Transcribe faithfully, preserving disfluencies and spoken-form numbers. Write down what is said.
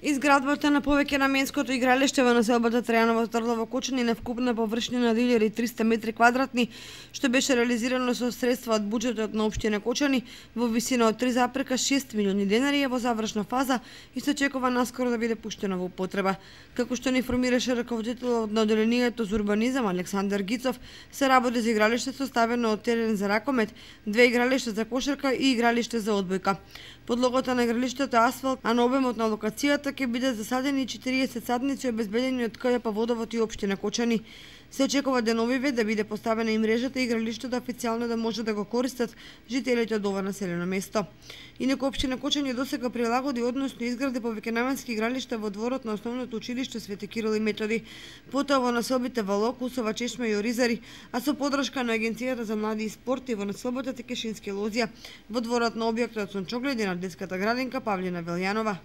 Изградбата на повеќе наменското игралиште во населбата Трајаново Орлово Кочани на вкупна површина на две илјади и триста метри квадратни, што беше реализирано со средства од буџетот на општина Кочани во висина од три зарез и шест милиони денари, е во завршна фаза и се очекува наскоро да биде пуштено во употреба. Како што ни информираше раководителот на одделението за урбанизам Александар Гицов, се работи за игралиште составено од терен за ракомет, две игралишта за кошарка и игралиште за одбојка. Подлогата на игралиштето е асфалт, а на обемот на локацијата ќе бидат засадени четириесет садници обезбедени од КЈП Водовод и општина Кочани. Се очекува деновиве да биде поставена и мрежата и игралиштето официјално да може да го користат жителите од ова населено место. Инаку општина Кочани досега прилагоди, односно изгради повеќенаменски игралишта во дворот на основното училиште Свети Кирил и Методи, потоа во населбите Вало, Кусова, Чешма и Оризари, а со подршка на Агенцијата за млади и спорт и во населбата Текешински Лозија, во дворот на објектот Сончогледи на детската градинка Павлина Велјанова.